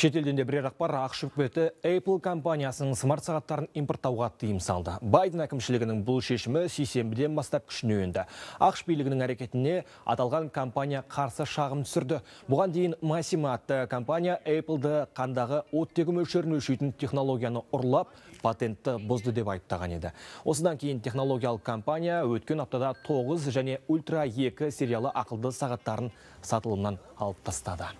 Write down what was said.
Шетелден де бірер ақпар ақш үкіметі Apple компаниясының смарт сағаттарын импорттауға тыйым салды. Байден әкімшілігінің бұл шешімі сейсенбіден бастап күшіне енді. ақш билігінің әрекетіне аталған компания қарсы шағым түсірді. Бұған дейін Massimo атты компания Apple'ды қандағы оттегі мөлшерін өлшейтін технологияны ұрлап, патентті бұзды деп айыптаған еді. Осыдан кейін технологиялық компания өткен аптада 9 және Ultra 2 сериалы ақылды сағаттарын сатылымнан алып тастады.